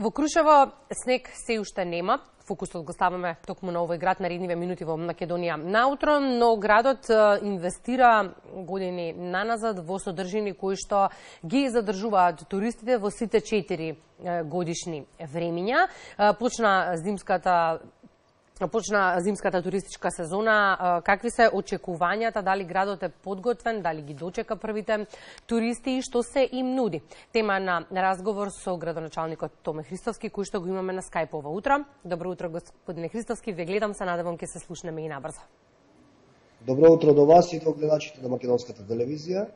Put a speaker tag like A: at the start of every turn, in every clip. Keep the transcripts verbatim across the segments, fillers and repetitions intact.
A: Во Крушево снег се уште нема. Фокусот го ставаме токму на овој град наредниве минути во Македонија наутро, но градот инвестира години наназад во содржини кои што ги задржуваат туристите во сите четири годишни времиња. Почна зимската Почна зимската туристичка сезона. Какви се очекувањата? Дали градот е подготвен? Дали ги дочека првите туристи и што се им нуди? Тема на разговор со градоначалникот Томе Христовски, кој што го имаме на Скајп ова утро. Добро утро, господине Христовски. Ве гледам, се надевам ќе се слушнеме и набрзо.
B: Добро утро до вас и до гледачите на Македонската телевизија.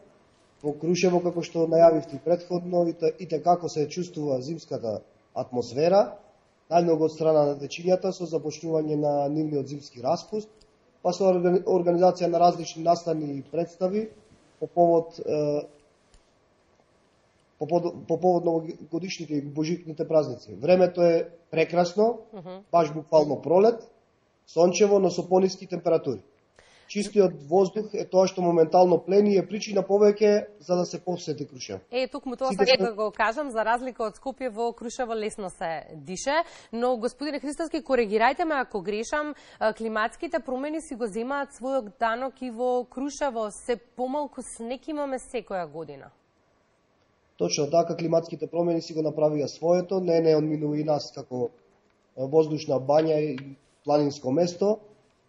B: Во Крушево, како што најавивте предходно, и како се чувствува зимската атмосфера, најмногу од страна на дечињата со започнување на нивниот зимски распуст, па со организација на различни настани и представи по повод е, по, по повод новогодишните и божикните празници. Времето е прекрасно, uh -huh. баш буквално пролет, сончево, но со пониски температури. Чистиот воздух е тоа што моментално плени и е причина повеќе за да се посети Крушево.
A: Е, токму тоа сакам да го кажам, за разлика од Скопје, во Крушево лесно се дише, но господине Христовски, коригирајте ме ако грешам, климатските промени си го земаат својот данок и во Крушево, се помалку снег имаме секоја година.
B: Точно така, климатските промени си го направија своето, не не одминува и нас како воздушна бања и планинско место,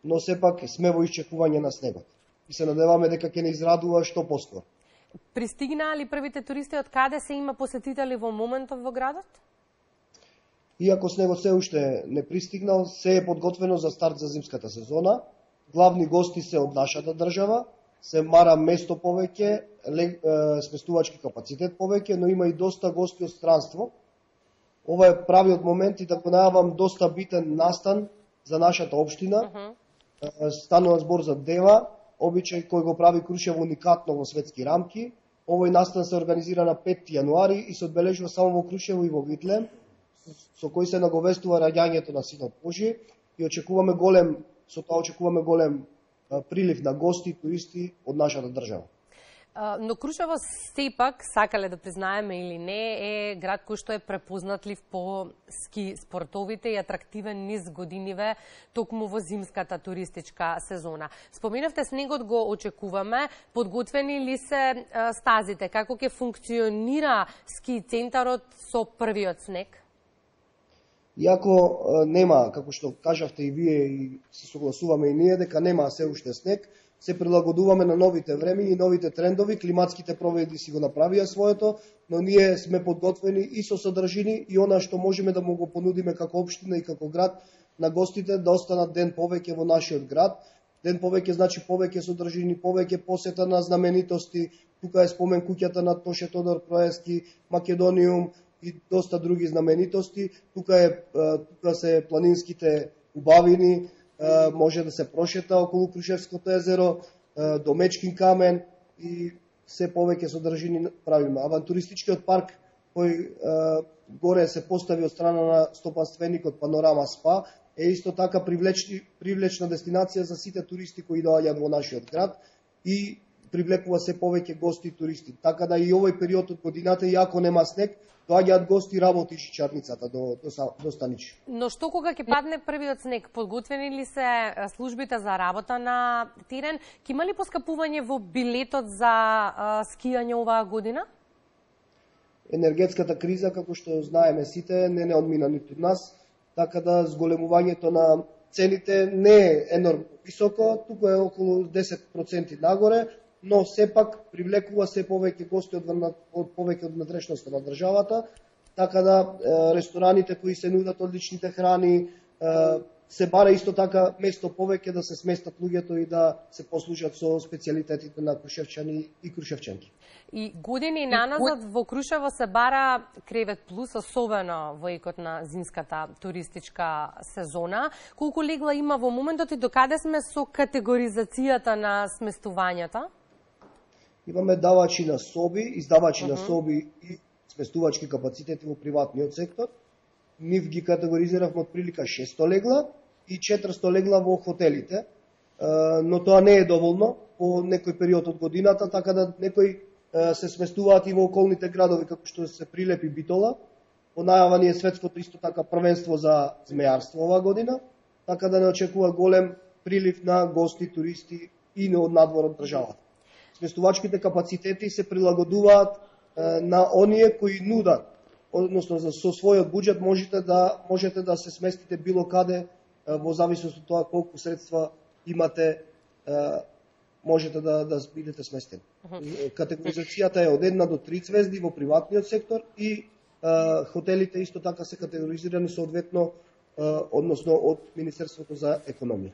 B: но сепак сме во исчекување на снегот. И се надеваме дека ќе не израдува што поскоро.
A: Пристигнаа ли првите туристи, од каде се има посетители во моментов во градот?
B: Иако снегот се уште не пристигнал, се е подготвено за старт за зимската сезона. Главни гости се од нашата држава, се мара место повеќе, сместувачки капацитет повеќе, но има и доста гости од странство. Ова е правиот момент и да го најавам доста битен настан за нашата општина. Uh -huh. Станува збор за дева, обичај кој го прави Крушево уникатно во светски рамки. Овој настан се организира на петти јануари и се одбележува само во Крушево и во Витлем, со кој се наговестува раѓањето на Синот Божи и очекуваме голем, со тоа очекуваме голем прилив на гости и туристи од нашата држава.
A: Но Крушево сепак, сакале да признаеме или не, е град кој што е препознатлив по ски спортовите и атрактивен низ годиниве токму во зимската туристичка сезона. Споменавте снегот го очекуваме, подготвени ли се стазите, како ќе функционира ски центарот со првиот снег?
B: Иако нема, како што кажавте и вие и се согласуваме и ние, дека нема се уште снег, се прилагодуваме на новите времења и новите трендови, климатските промени си го направија своето, но ние сме подготвени и со содржини и она што можеме да му го понудиме како општина и како град на гостите да останат ден повеќе во нашиот град. Ден повеќе значи повеќе содржини, повеќе посета на знаменитости. Тука е спомен куќата на Тоше Тодор Проески, Македониум и доста други знаменитости. Тука е тука се планинските убавини, може да се прошета околу Крушевското езеро, до Мечкин камен и се повеќе содржини правиме. Авантуристичкиот парк кој горе се постави од страна на стопанственикот Панорама Спа е исто така привлечна дестинација за сите туристи кои доаѓаат во нашиот град и привлекува се повеќе гости и туристи. Така да и овој период од годината, иако нема снег, доаѓаат гости, работи шичарницата до, до, до Станич.
A: Но што кога ќе падне првиот снег? Подготвени ли се службите за работа на терен? Ќе има ли поскапување во билетот за а, скијање оваа година?
B: Енергетската криза, како што знаеме сите, не не одмина ниту нас, така да зголемувањето на цените не е енормно високо, туку е околу десет проценти нагоре, но сепак привлекува се повеќе гости од, од повеќе од внатрешноста на државата, така да е, рестораните кои се нудат одличните храни, е, се бара исто така место повеќе да се сместат луѓето и да се послужат со специјалитетите на крушевчани и крушевчанки.
A: И години наназад во Крушево се бара кревет плюс, особено во екот на зимската туристичка сезона. Колку легла има во моментот и докаде сме со категоризацијата на сместувањата?
B: Имаме давачи на соби, издавачи uh -huh. на соби и сместувачки капацитети во приватниот сектор. Нив ги категоризиравме од прилика шесто легла и четиристо легла во хотелите, но тоа не е доволно по некој период од годината, така да некои се сместуваат и во околните градови, како што се Прилеп и Битола, Во најава ни е светското исто така првенство за змејарство оваа година, така да не очекува голем прилив на гости, туристи и не од надвор од државата. Сместувачките капацитети се прилагодуваат е, на оние кои нудат, односно за со својот буџет можете да можете да се сместите било каде е, во зависност од тоа колку средства имате, е, можете да да бидете сместени. Uh -huh. Категоризацијата е од една до три звезди во приватниот сектор и е, хотелите исто така се категоризирани соодветно, односно од Министерството за економија.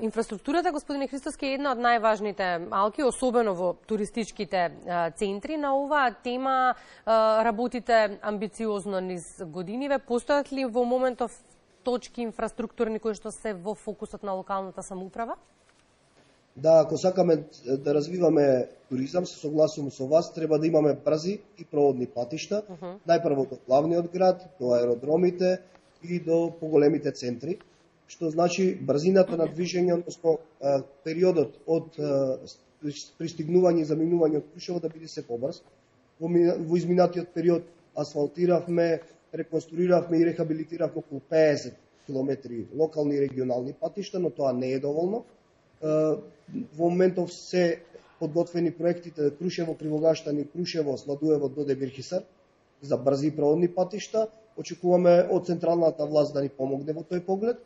A: Инфраструктурата, господине Христоски, е една од најважните алки, особено во туристичките центри. На оваа тема работите амбициозно низ годиниве. Постојат ли во моментов точки инфраструктурни кои што се во фокусот на локалната самоуправа?
B: Да, ако сакаме да развиваме туризам, се согласувам со вас, треба да имаме брзи и проводни патишта. Uh -huh. Најпрво до главниот град, до аеродромите и до поголемите центри, што значи брзината на движење, односно периодот од пристигнување и заминување од Крушево да биде се побрз. Во, во изминатиот период асфалтиравме, реконструиравме и рехабилитиравме околу педесет километри локални и регионални патишта, но тоа не е доволно. Во моментов се подготвени проектите Крушево, Кривогаштани, Крушево, Сладуево до Дебирхисар за брзи проводни патишта. Очекуваме од централната власт да ни помогне во тој поглед.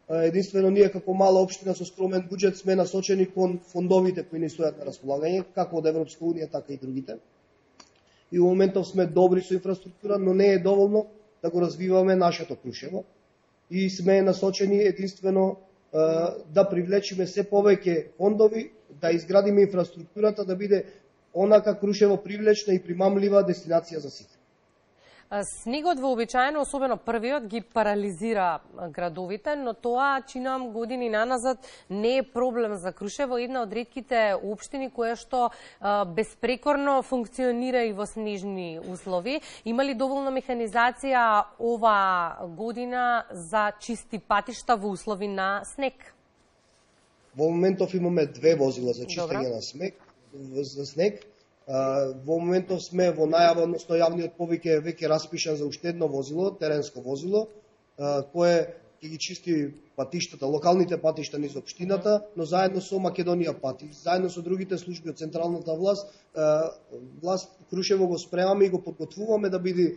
B: Единствено ние како мала општина со скромен буџет сме насочени кон фондовите кои ни стојат на располагање, како од Европска унија, така и другите. И во моментов сме добри со инфраструктура, но не е доволно да го развиваме нашето Крушево. И сме насочени единствено да привлечиме се повеќе фондови, да изградиме инфраструктурата, да биде онака Крушево привлечна и примамлива дестинација за сите.
A: Снегот вообичаено, особено првиот, ги парализира градовите, но тоа, чинам години наназад, не е проблем за Крушево, една од ретките општини која што а, безпрекорно функционира и во снежни услови. Има ли доволна механизација ова година за чисти патишта во услови на снег?
B: Во моментов имаме две возила за чистење на снег, за снег. Во моментов сме во најава, односно јавниот повик е веќе распишан за уште едно возило, теренско возило, кое ќе ги чисти патиштата, локалните патишта низ општината, но заедно со Македонија пати, заедно со другите служби од централната власт, власт Крушево го спремаме и го подготвуваме да биде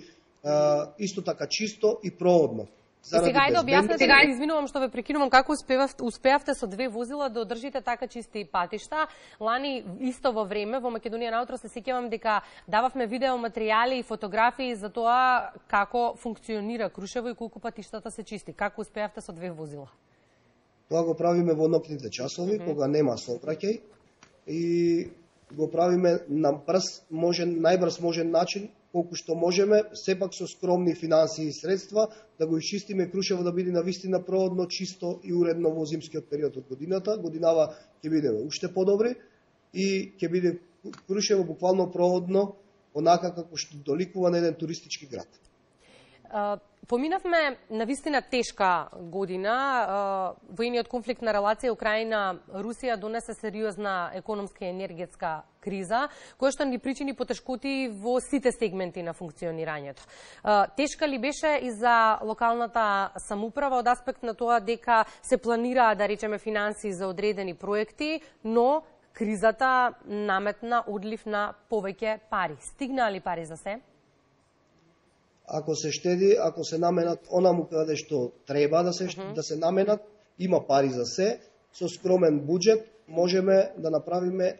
B: исто така чисто и проводно.
A: Заради сега е да објасните, сега извинувам што ве прекинувам, како успевавте, успеавте со две возила да одржите така чисти патишта. Лани исто во време во Македонија наутро се сеќавам дека дававме видеоматеријали и фотографии за тоа како функционира Крушево и колку патиштата се чисти. Како успеавте со две возила?
B: Тоа го правиме во ноќните часови, mm -hmm. кога нема сообраќај, и го правиме на брз, можен, најбрз можен начин, колку што можеме, сепак со скромни финансии и средства, да го изчистиме Крушево да биде навистина проводно, чисто и уредно во зимскиот период од годината. Годинава ќе бидеме уште подобри и ќе биде Крушево буквално проводно, онака како што доликува на еден туристички град.
A: Поминавме на вистина тешка година. Воениот конфликт на релација Украина-Русија донесе сериозна економска и енергетска криза, која што ни причини потешкоти во сите сегменти на функционирањето. Тешка ли беше и за локалната самоуправа од аспект на тоа дека се планираа, да речеме, финансии за одредени проекти, но кризата наметна одлив на повеќе пари. Стигнаа ли пари за се?
B: Ако се штеди, ако се наменат онаму каде што треба да се, uh -huh. да се наменат, има пари за се, со скромен буџет можеме да направиме е,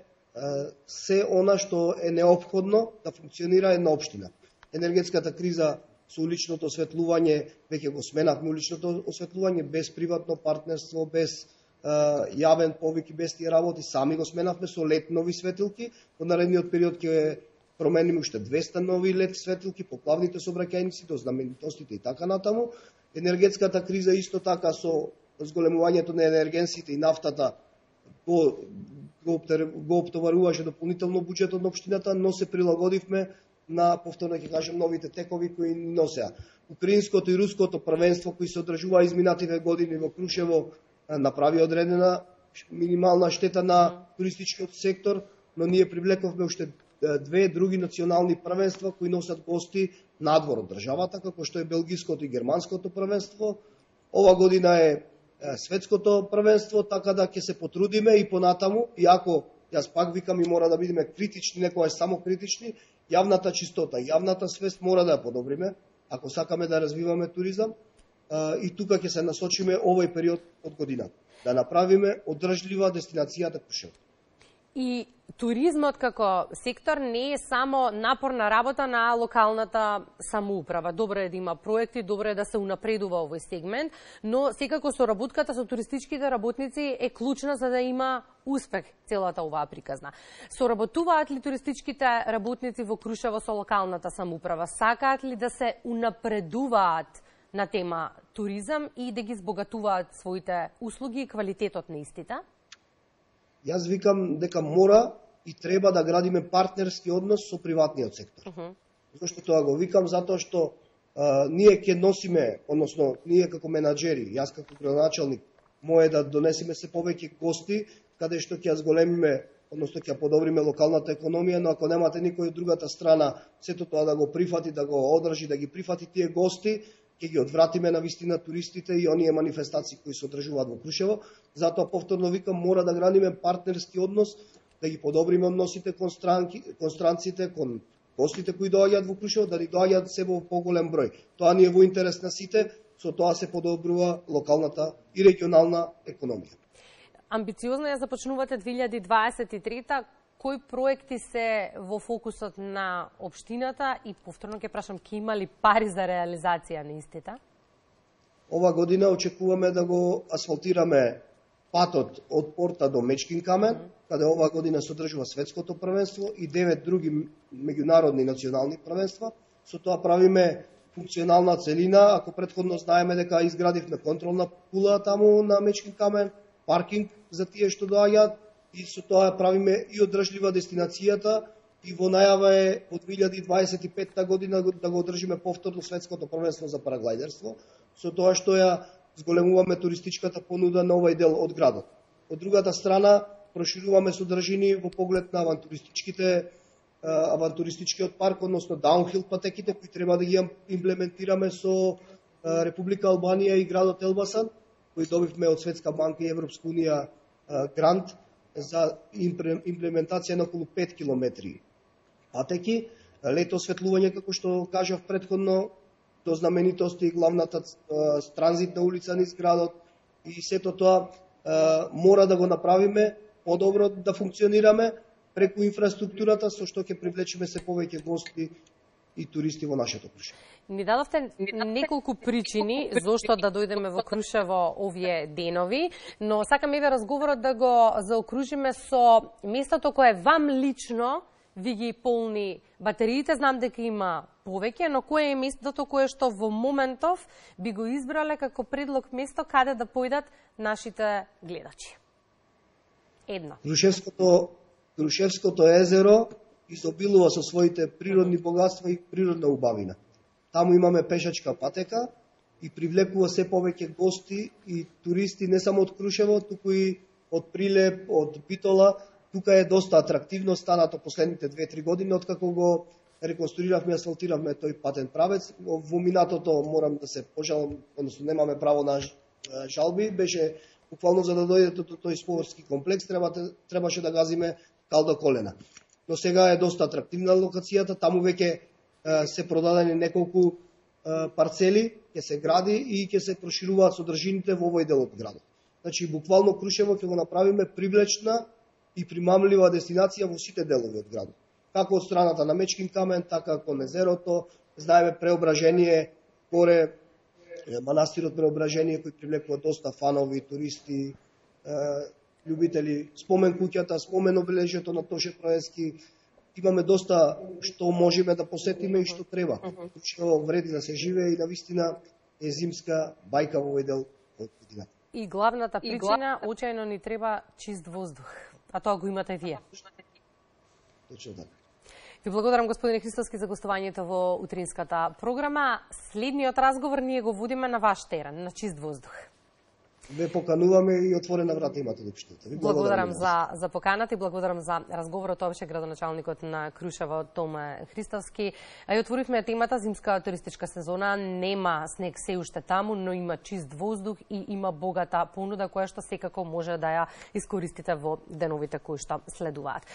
B: се она што е неопходно да функционира една општина. Енергетската криза со уличното осветлување, веќе го сменавме уличното осветлување, без приватно партнерство, без е, јавен повик и без тие работи, сами го сменавме со лед нови светилки, во наредниот период ќе промениме уште двеста нови лед светилки по главните сообраќајници, до знаменитостите и така натаму. Енергетската криза исто така со зголемувањето на енергенсите и нафтата го, го, го оптоваруваше дополнително буџетот на општината, но се прилагодивме на, повторно ќе кажам, новите текови кои ни носеа. Украинското и руското првенство кои се одржуваа изминативе години во Крушево направи одредена минимална штета на туристичкиот сектор, но ние привлековме уште две други национални првенства кои носат гости надвор од државата, како што е белгиското и германското првенство. Ова година е светското првенство, така да ќе се потрудиме и понатаму, иако јас пак викам и мора да бидеме критични, некојаш само критични, јавната чистота, јавната свест мора да ја подобриме, ако сакаме да развиваме туризам, и тука ќе се насочиме овој период од година, да направиме одржлива дестинацијата Крушево.
A: И туризмот како сектор не е само напорна работа на локалната самоуправа. Добро е да има проекти, добро е да се унапредува овој сегмент, но секако соработката со туристичките работници е клучна за да има успех целата оваа приказна. Соработуваат ли туристичките работници во Крушево со локалната самоуправа? Сакаат ли да се унапредуваат на тема туризам и да ги збогатуваат своите услуги и квалитетот на истите?
B: Јас викам дека мора и треба да градиме партнерски однос со приватниот сектор. Uh -huh. Зошто тоа го викам? Затоа што а, ние ќе носиме, односно ние како менаџери, јас како градоначалник, мое да донесиме се повеќе гости, каде што ќе ја зголемиме, односно ќе подобриме локалната економија, но ако немате никој од другата страна, сето тоа да го прифати, да го одржи, да ги прифати тие гости, ќе ги одвратиме на вистина туристите и оние манифестации кои се одржуваат во Крушево. Затоа повторно викам, мора да градиме партнерски однос, да ги подобриме односите кон, странки, кон странците, кон гостите кои доаѓаат во Крушево, да ни доаѓаат себе во поголем број. Тоа ни е во интерес на сите, со тоа се подобрува локалната и регионална економија.
A: Амбициозно ја започнувате две илјади дваесет и трета. Кои проекти се во фокусот на општината и повторно ќе прашам, ќе има ли пари за реализација на истите?
B: Ова година очекуваме да го асфалтираме патот од порта до Мечкин камен, mm. каде ова година се одржува светското првенство и девет други меѓународни национални првенства. Со тоа правиме функционална целина, ако претходно знаеме дека изградивме контролна кула таму на Мечкин камен, паркинг за тие што доаѓаат, и со тоа правиме и одржлива дестинацијата и во најава е од две илјади дваесет и петта година да го одржиме повторно светското првенство за параглајдерство, со тоа што ја зголемуваме туристичката понуда на овој дел од градот. Од другата страна, прошируваме содржини во поглед на авантуристичките авантуристичкиот парк, односно даунхил патеките кои треба да ги имплементираме со Република Албанија и градот Елбасан, кои добивме од Светска банка и Европска унија грант за имплементација на околу пет километри патеки. Лето осветлување, како што кажав предходно, до знаменитости, главната транзитна улица низ градот и сето тоа мора да го направиме подобро да функционираме преку инфраструктурата, со што ќе привлечеме се повеќе гости и туристи во нашето Крушево.
A: Ни дадовте неколку причини зошто да дојдеме во Крушево овие денови, но сакам еве разговорот да го заокружиме со местото кое вам лично ви ги полни батериите. Знам дека има повеќе, но кое е местото кое што во моментов би го избрале како предлог место каде да појдат нашите гледачи? Едно.
B: Крушевското, Крушевското езеро изобилува со своите природни богатства и природна убавина. Таму имаме пешачка патека и привлекува се повеќе гости и туристи не само од Крушево, туку и од Прилеп, од Битола. Тука е доста атрактивно станато последните две-три години, откако го реконструиравме и асфалтиравме тој патен правец. Во минатото морам да се пожалам, односно немаме право на жалби, беше буквално за да дојдете до тој спортски комплекс, требаше да газиме кал до колена. Но сега е доста атрактивна локацијата, таму веќе се продадени неколку парцели, ќе се гради и ќе се прошируваат содржините во овој дел од градот. Значи, буквално Крушево ќе го направиме привлечна и примамлива дестинација во сите делови од градот. Како од страната на Мечкин камен, така кон езерото, знаеме Преображение, горе манастирот Преображение кој привлекува доста фанови, туристи, љубители, спомен куќата, спомен обележјето на Тоше Проески. Имаме доста што можеме да посетиме и што треба. Што вреди да се живее и навистина е зимска бајка во овој дел од годината.
A: И главната причина, очајно ни треба чист воздух. А тоа го имате вие.
B: Точно така.
A: Ви благодарам, господине Христовски, за гостувањето во утринската програма. Следниот разговор ние го водиме на ваш терен, на чист воздух.
B: Ве покануваме и отворена врата имате да пиштете. Ви
A: благодарам за за поканата и благодарам за разговорот овче градоначалникот на Крушево Томе Христовски. А и отворивме темата зимска туристичка сезона. Нема снег се уште таму, но има чист воздух и има богата понуда која што секако може да ја искористите во деновите кои што следуваат.